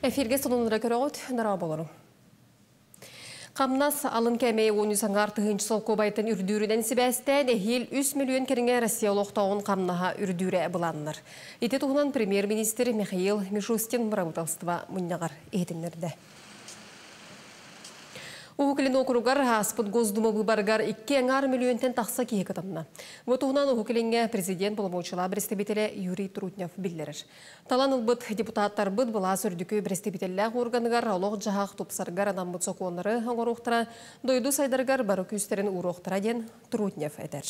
Эфирге сонуннары көрөҕүт, дорооболоруҥ. Хамнас алын кээмэйэ 13 аҥаар тыһыынча солкуобайтан үрдүүрүнэн сибээстээн эһиил 3 миллион кэриҥэ Россия олохтооҕун хамнаһа үрдүүрэ былааннанар. Ити туһунан премьер-министр Михаил Мишустин бырабыыталыстыба мунньаҕар иһитиннэрдэ. Уһук Илин уокуругар ааспыт Госдума быыбарыгар 2,5 миллионтан тахса киһи кытынна. Бу туһунан Уһук Илиҥҥэ президент боломуочуйалаах представителэ Юрий Трутнев биллэрэр. Талан ылбыт депутаттарбыт былаас үрдүкү бэрэстэбиитэллээх органыгар олох-дьаһах тупсарыгар анаммыт сокуоннары оҥоруохтара, дойду сайдарыгар бары күүстэрин ууруохтара диэн Трутнев этэр.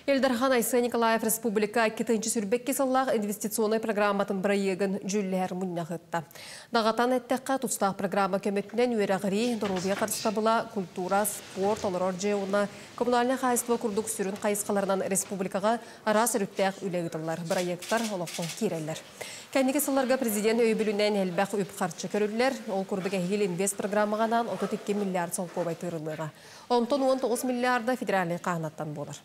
Ил Дархан Айсен Николаев республика 2022 сыллаах инвестиционнай программатын бырайыагын дьүүллэһэр мунньах ыытта. Даҕатан эттэххэ, тустаах программа көмөтүнэн үөрэҕирии, доруобуйа харыстабыла, культура, спорт, олорор дьиэ уонна коммунальнай хаһаайыстыба курдук сүрүн хайысхаларынан республикаҕа араас өрүттээх үлэ ыытыллар, бырайыактар олоххо киирэллэр. Кэнники сылларга президент өйөбүлүнэн элбэх үп-харчы көрүллэр. Ол курдук эһиил инвест программаҕа анаан 32 миллиард солкуобай тыырыллыаҕа. Онтон 19 миллиарда федеральнай хааһынаттан буолар.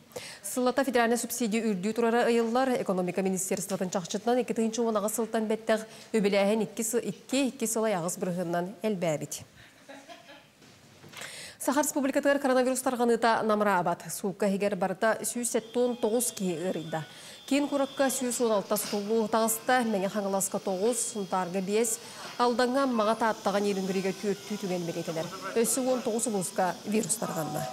Сыллата федеральнай субсидия үрдүү турара ыйыллар. Экономика министерствотын чахчытынан 2018 сылтан бэттэх үбүлээһин 2 сыл 8% элбээбит. Саха Республикатыгар коронавирус тарҕаныыта намыраабат. Суукка иһигэр барыта 179 киһи ыарыйда. Киин куоракка 116 сутуллуу таҕыста, Мэҥэ Хаҥаласка 9, Сунтаарга 5, Алдаҥҥа, Аммаҕа, Тааттаҕа, Нерюнгригэ түөртүү түгэн бэлиэтэнэр. Өссө 19 улууска вирус тарҕанна.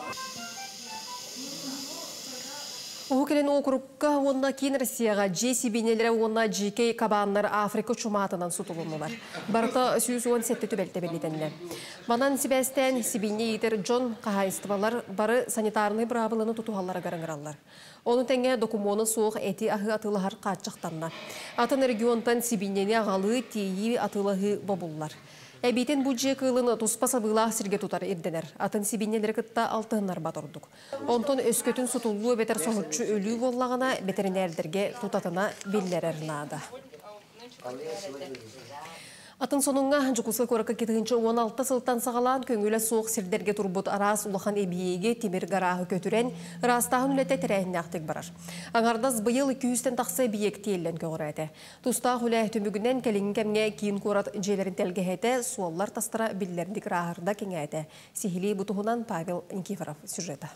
Уһук Илин уокурукка уонна Киин Россияҕа дьиэ сибиинньэлэрэ уонна дьиикэй кабааннар Африка чумаатынан сутулуннулар. Барыта 117 түбэлтэ бэлиэтэннэ. Манан сибээстээн сибиинньэ иитэр дьон, хаһаайыстыбалар бары санитарнай быраабыланы тутуһалларыгар ыҥыраллар. Ону тэҥэ докумуона суох эти аһы атыылаһар хааччахтанна. Атын регионтан сибиинньэни аҕалыы, тиэйии, атыылаһыы бобуллар. Эбиитин бу дьиэ кыылын туспа сабыылаах сиргэ тутар ирдэнэр. Атын сибиинньэлэри кытта алтыһыннарбат ордук. Онтон өскөтүн сутуллуу эбэтэр соһуччу өлүү буоллаҕына, бэтэринээрдэргэ тутатына биллэрэр наада. Атын сонуҥҥа Дьокуускай куоракка 2016 сылтан саҕалаан көҥүлэ суох сирдэргэ турбут араас улахан эбийиэги тимир гарааһы көтүрэн, ыраастааһын үлэтэ тэрээһиннээхтик барар. Аҥардас быйыл 200-тэн тахса эбийиэк тиэллэн көҕүрээтэ. Тустаах үлэ түмүгүнэн кэлиҥҥи кэмҥэ киин куорат дьиэлэрин тэлгэһэтэ, суоллар тастара биллэрдик ырааһырда кэҥээтэ. Сиһилии бу туһунан Павел Никифоров сюжета.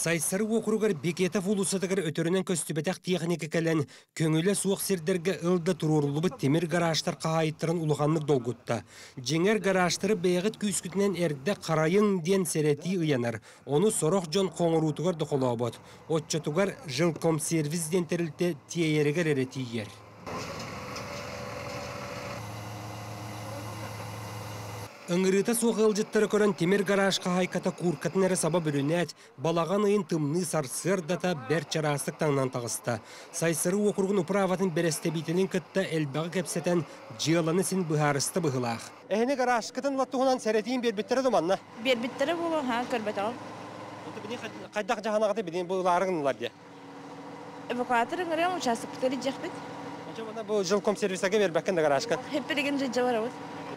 Сайсары уокуругар Бекетов уулуссатыгар өтөрүнэн көстүбэтэх тиэхиньикэ кэлэн, көҥүлэ суох сирдэргэ ыл да туруоруллубут тимир гаражтар хаһаайыттарын улаханнык долгутта. Дьиҥэр гаражтары бэйэҕит күүскүтүнэн эрдэ харайыҥ диэн сэрэтии ыйанар. Ону сорох дьон хоҥоруутугар да холообот. Оччотугар жилкомсервис диэн тэрилтэ тиэйэригэр эрэ тиийэр. Ыҥырыыта суох ыалдьыттары көрөн тимир гараж хаһаайката кууркатын эрэ саба бүрүнээт, балаҕан ыйын тымныы сарсыардата бэрт чараастык таҥнан таҕыста. Сайсары уокуругун управатын бэрэстэбиитэлин кытта элбэҕи кэпсэтэн, дьыаланы син быһаарыста быһыылаах. Эһини гаражкытын туһунан сэрэтиин биэрбиттэрэ да манна? Биэрбиттэрэ буолуо, ха, көрбөтөҕүм. Хайдах дьаһанаҕыты билин бу ылаарыҥ диye. Эвакуатор ыҥырыам, учаастакпытыгар илдьиэхпит. Очо бу жилкомсервисаga бербеккен да гаражка. Хеппилигин дьыдьа барабыт.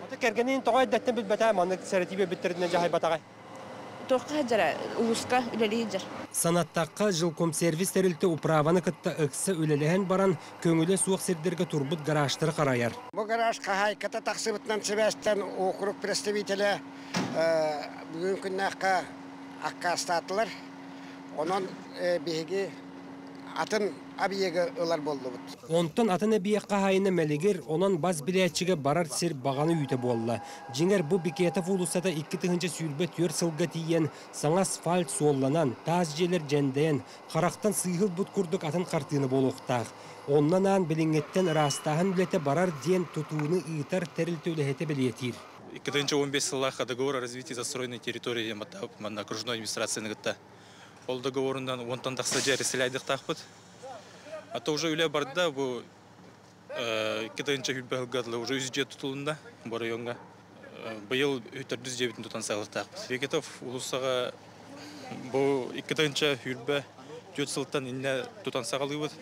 Ото кэргэнин тоҕо эрдэттэн билбэтэ маннык сэрэтии биэрбиттеринэн дьаһайбатаҕай. Туохха сылдьара, улууска үлэлии сылдьар. Санаттахха, жилкомсервис тэрилтэ управаны кытта ыкса үлэлэһэн баран, көҥүлэ суох сирдэргэ турбут гаражтары харайар. Бу гараж хаһаайката тахсыбытынан сибээстээн округ представителэ бүгүн күннээххэ аккаастаатылар. Онон биһиги атын объегы ылар буоллубут. Онтон атын эбийиэк хаһаайына мэлигир, онон бас билээччигэ барар сир баҕана үүтэ буолла. Дьиҥэр бу Бекетов уулуссата 2024 сылга тиийэн, саҥа асфальт суолланан, таас дьиэлэр дьэндэйэн, харахтан сыыһылбыт курдук атын хартыына буолуохтаах. Онон аан билиҥҥиттэн ыраастааһын үлэтэ барар диэн тутууну ыытар тэрилтэ үлэһитэ бэлиэтиир. 2015 сыллаахха договор о развитии застроенной территории манна окружной администрацияны кытта. Ол договорунан онтон тахса дьиэ эрэсэлээйдихтаахпыт. А то уже үлэ барда бу 2020 уже үс дьиэ тутулунна бу райоҥҥа. Быйыл төрдүс дьиэбитин тутан саҕалыахтаахпыт. Бекетов уулуссаҕа бу 2024 сылтан иннэ тутан саҕалыыбыт.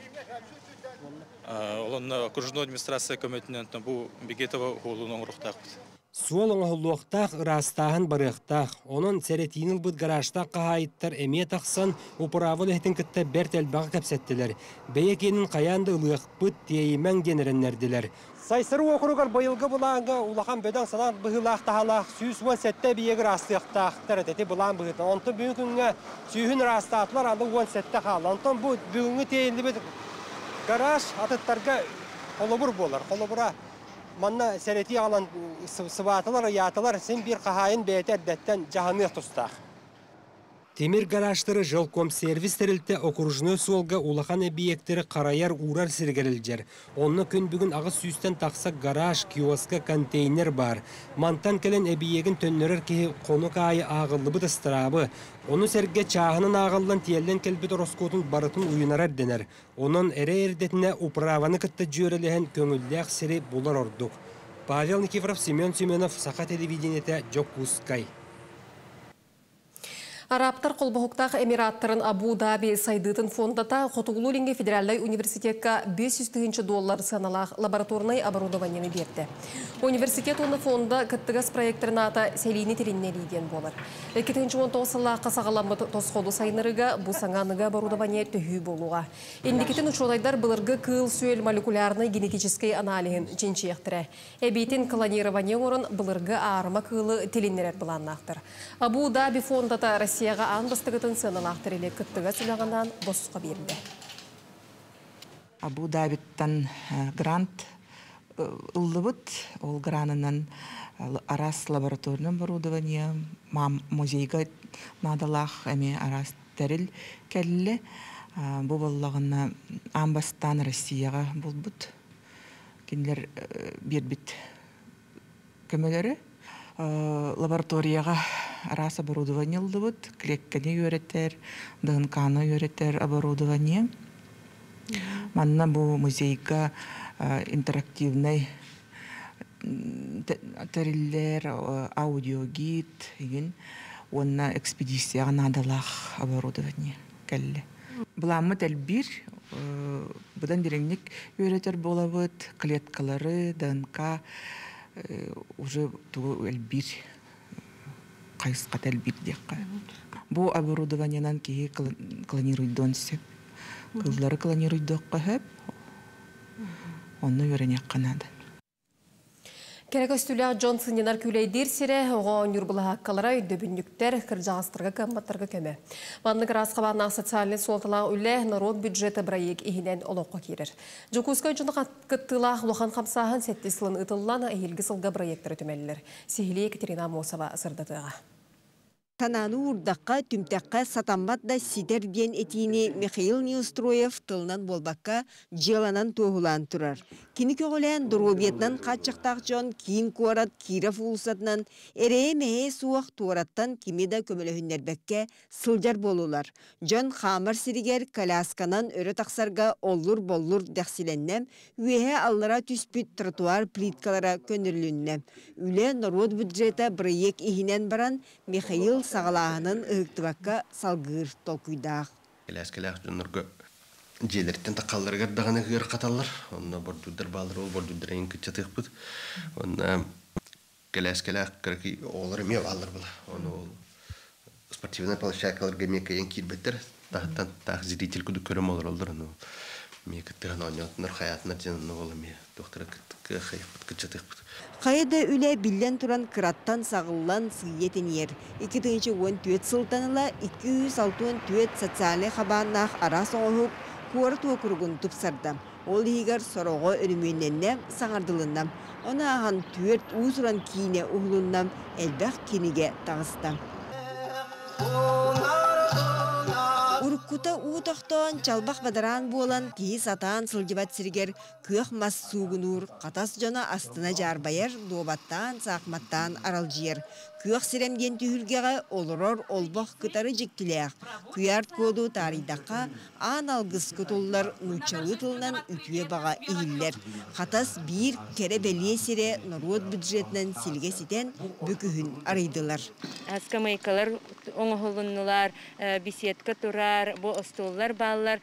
Ол онно окружной администрация көмөтүнэн бу Бекетова уолун оҥоруохтаахпыт. Суол оҥоһуллуохтаах, ыраастааһын барыахтаах. Онон сэрэтиини ылбыт гаражтаах хаһаайыттар эмиэ тахсан, управа үлэһитин кытта бэрт элбэҕи кэпсэттилэр. Бэйэ киэнин хайаан да ылыахпыт, тиэйимэҥ диэн эрэннэрдилэр. Сайсары уокуругар быйылгы былааҥҥа улахан бөдөҥ санаат быһыылаах таһалаах 117 эбийиэги ыраастыахтаахтар этэ ити былаан быһыытынан. Онтон бүгүн күҥҥэ сүүһүн ыраастаатылар, аны 17 хаалла. Онтон бу бүгүҥҥү тиэйиллибит гараж атыттарга холобур буолар. Холобура, манна сэрэтии аҕалан сыбаатылар, ыйаатылар, син биир хаһаайын бэйэтэ эрдэттэн дьаһаныах тустаах. Тимир гаражтары Жилкомсервис тэрилтэ окружной суолга улахан эбийиэктэри харайар, уурар сиригэр илдьэр. Онно күн бүгүн 800-тэн тахса гараж, киоска, контейнер баар. Мантан кэлэн эбийиэгин төннөрөр киһи хонук аайы ааҕыллыбыт ыстараабы, ону сэргэ чааһынан ааҕыллан тиэллэн кэлбит ороскуотун барытын уйунара ирдэнэр. Онон эрэ эрдэтинэ управаны кытта дьүөрэлэһэн көҥүллээх сири булар ордук. Павел Никифоров, Семен Семенов, Саха телевидениетэ, Дьокуускай. Арабтар холбоһуктаах Эмираттарын Абу-Даби сайдыытын фондата Хотугулуу-Илиҥҥи федеральнай университекка 500 тыһыынча доллар сыаналаах лабораторнай оборудованиены биэрдэ. Университет уонна фонда кыттыгас проектарын аата Сэлиини тилиннэрии диэн буолар. 2019 сыллаахха саҕаламмыт тосхолу сайыннарыыга бу саҥа аныгы оборудование төһүү буолуоҕа. Инникитин учуонайдар былыргы кыыл-сүөл молекулярнай генетическэй аналиһын чинчийиэхтэрэ. Эбиитин клонирование оҥорон былыргы аарыма кыылы тилиннэрэр былааннаахтар. Абу-Даби фондата Россияҕа аан бастакытын сыаналаах тэрили кыттыгас үлэҕэ босхо биэрдэ. Абу-Дабиттан грант ыллыбыт. Ол гранынан араас лабораторный оборудование, музейга наадалаах эмиэ араас тэрил кэллэ. Бу буоллаҕына аан бастаан Россияҕа булбут. Кинилэр биэрбит көмөлөрү. Лабораторияҕа араас оборудование ыллыбыт. Клетканы үөрэтэр, ДНК-ны үөрэтэр оборудование. Манна бу музейга интерактивный тэриллэр, аудиогид игин уонна экспедицияҕа наадалаах оборудование кэллэ. Былааммыт элбиир, быдан дириҥник үөрэтэр буолабыт, клеткалары, ДНК уже тугу элбиир, хайысхата элбиир диэххэ. Бу оборудованиенан киһи клонируйдуон сөп. Кыллары клонируйдуохха сөп, онно үөрэниэххэ наада. Кэрэ көстүүлээх дьон сынньанар күүлэйдиир сирэ, оҕо оонньуур былаһааккалара, өйдөбүнньүктэр, кырдьаҕастарга, кыамматтарга көмө. Маннык араас хабааннаах социальнай суолталаах үлэ норуот бюджета бырайыак иһинэн олоххо киирэр. Дьокуускай дьоно кыттыылаах улахан хамсааһын сэттис сылын ыытыллан, эһиилги сылга бырайыактары түмэллэр. Сиһилии Екатерина Аммосова сырдатыаҕа. Санааны уурдахха, түмтэххэ сатаммат да ситэр диэн этиини Михаил Неустроев тылынан буолбакка, дьыаланан туоһулаан турар. Кини көҕүлээн доруобуйатынан хааччахтаах дьон киин куорат Киров уулуссатынан эрэйэ-мэһэйэ суох туораттан кими да көмөлөһүннэрбэккэ сылдьар буоллулар. Дьон хаамар сиригэр колясканан өрө тахсарга оллур-боллур дэхсилэннэ, үөһэ-аллара түспүт тротуар плиткалара көннөрүлүннэ. Үлэ норуот бюджета бырайыак иһинэн баран, Михаил саҕалааһынын ыһыктыбакка салгыыр толкуйдаах. Кэлээскэлээх дьоннорго дьиэлэриттэн таххалларыгар даҕаны ыарахаталлар. Онно бордуурдар бааллар, ол бордуурдар эҥин кыччатыахпыт. Онно кэлээскэлээх кыракый оҕолор эмиэ бааллар була. Ону ол спортивнай площадкаларга эмиэ кыайан киирбэттэр. Таһыттан таах зритель курдук көрөм олороллор. Ону эмиэ кыттыһан оонньоотунар, хайаатынар диэн онно ол эмиэ туохтара кыахайыахпыт, кыччатыахпыт. Хайа да үлэ биллэн туран кыраттан саҕыллан сыыйа тэнийэр. 2014 сылтан ыла 264 социальнай хабааннаах араас оҥоһук куорат уокуругун тупсарда. Ол иһигэр сороҕо өрөмүөннэннэ, саҥардылынна. Ону ааһан түөрт уус-уран киинэ уһулунна, элбэх кинигэ таҕыста. Уруккута уу тохтоон, чалбах бадараан буолан, киһи сатаан сылдьыбат сиригэр күөх мас суугунуур, Хатас дьоно астына дьаарбайар, дуобаттаан, саахыматтаан аралдьыйар. Күөх сирэм диэн түһүлгэҕэ олорор олбох кытары дьиктилээх. Куйаар-коду таарыйдахха, аан алгыс кутуллар нууччалыы тылынан үтүө баҕа иһиллэр. Хатас биир кэрэ-бэлиэ сирэ норуот бюджетынан силигэ ситэн, бүкүһүн арыйдылар. Скамейкалар оҥоһулуннулар, беседка турар, Бу остуоллар бааллар,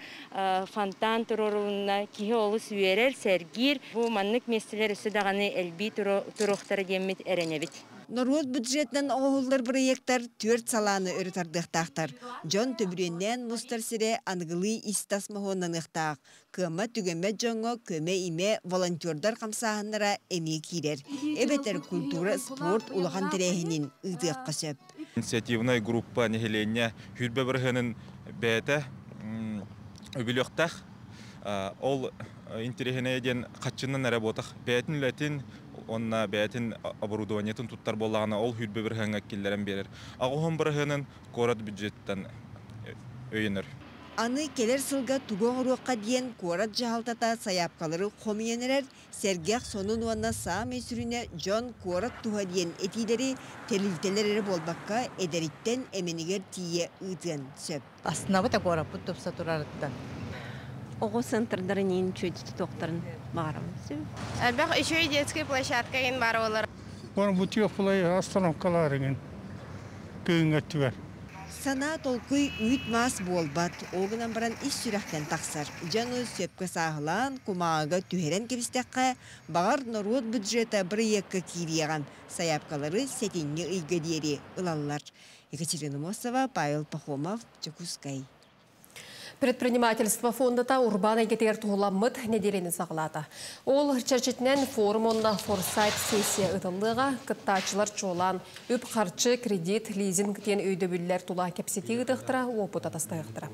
фонтан туруорулунна, киһи олус үөрэр, сэргиир. Бу маннык миэстэлэр өссө даҕаны элбии туруохтара диэммит эрэнэбит. Норуот бюджетынан оҥоһуллар бырайыактар түөрт салааны өрө тардыахтаахтар. Дьон төбүрүөннээн мустар сирэ аныгылыы ис-тас моһуоннаныахтаах. Кыаммат-түгэммэт дьоҥҥо көмө-имэ волонтердар хамсааһыннара эмиэ киирэр. Эбэтэр культура, спорт улахан тэрээһинин ыытыахха сөп. Инициативнай группа нэһилиэнньэ хүрбэ бырыһыанын бэйэтэ үбүлүөхтээх. Ол интэриэһинэйэ диэн хаччыннан эрэ буотах. Бэйэтин үлэтин уонна бэйэтин оборудованиетын туттар буоллаҕына, ол хүрбэ бырыһыаҥҥа киллэрэн биэрэр. Аҕыһын бырыһыанын куорат бюджеттан өйөнөр. Аны кэлэр сылга тугу оҥоруохха диэн куорат дьаһалтата сайаапкалары хомуйан эрэр, сэргэх сонун уонна саамай сүрүнэ дьон куорат туһа диэн этиилэри тэрилтэлэр эрэ буолбакка, эдэриттэн эмэнигэр тиийэ ыытыан сөп. Астынабыт куораппыт тупса турарыттан. Оҕо центрдарын иин чүөдүтү туохтарын баҕарабын. Элбэх үчүгэй детскай площадка ин бар олар. Оны бу теплай остановкаларыгын кыыңга түгэр. Санаа толкуй үүт-маас буолбат, ол гынан баран ис сүрэхтэн тахсар. Дьону сөпкө сааһылаан, кумааҕыга түһэрэн кэбистэххэ, баҕар норуот бюджета бырайыакка киириэҕин, сайаапкалары сэтинньи ыйга диэри ылаллар. Екатерина Мосова, Павел Пахомов, Дьокуускай. Предпринимательство фондата урбаан эйгэтигэр туһуламмыт нэдиэлэни саҕалаата. Ол чэрчитинэн форум уонна форсайт сессия ыытыллыаҕа, кыттааччылар чуолаан үп харчы, кредит, лизинг диэн өйдөбүллэр тула кэпсэтии ыытыахтара, уопут атастаһыахтара.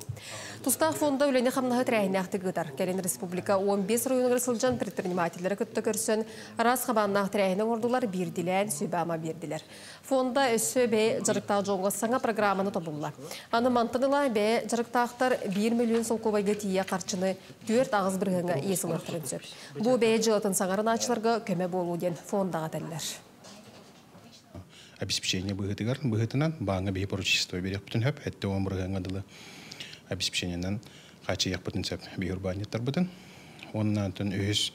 Тустаах фонда үлэни хамнаһы тэрээһиннээхтик ыытар. Кэлин республика 15 оройуонугар сылдьан предпринимателлэри кытта көрсөн, араас хабааннаах тэрээһини оҥордулар, биирдилээн сүбэ-ама биэрдилэр. Фонда өссө бэйэ дьарыктаах дьоҥҥо саҥа программаны тобулла. Аны мантан ыла бэйэ дьарыктаахтар 1 миллион солкуобайга тиийэ харчыны 4-8 бырыһыаҥҥа иэс ылыахтарын сөп. Бу бэйэ дьыалатын саҥарынааччыларга көмө буолуо диэн фондаҕа этэллэр. Обеспечение быһыытыгар быһыытынан бааҥҥа биһи поручительство биэриэхпитин сөп, 70 бырыһыаҥҥа дылы обеспечениенан хааччыйыахпытын сөп биһи урбаанньыттарбытын. Уонна үһүс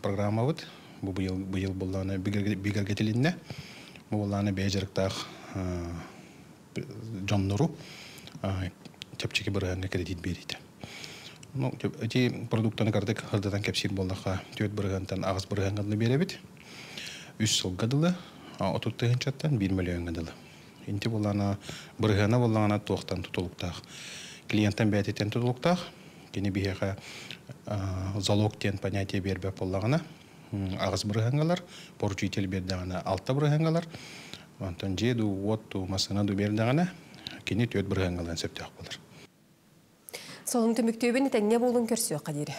программабыт бу быйыл быйыл буоллаҕына бигэргэтилиннэ. Бу буоллаҕына бэйэ дьарыктаах дьоннору чэпчэки бырыһыаҥҥа кредит биэриитэ. Ну, эти продуктаны кардык хырдатан кэпсиир буоллахха, 4 бырыһыантан 8 бырыһыаҥҥа дылы биэрэбит. 3 сылга дылы, 30 тыһыынчаттан 1 миллионҥа дылы. Инти буоллаҕына бырыһыана буоллаҕына туохтан тутулуктаах. Клиенттан бэйэтиттэн тутулуктаах. Кини биһиэхэ залог диэн понятие биэрбэт буоллаҕына, 8 бырыһыаҥҥалар, поручитель биэрдэҕинэ 6 бырыһыаҥҥалар, онтон дьиэ дуу, уот дуу, массыына дуу биэрдэҕинэ, кини 4 бырыһыаҥҥалыан сөптөөх буолар. Сонун түмүктүүбүн, этэҥҥэ буолуҥ, көрсүөххэ диэри.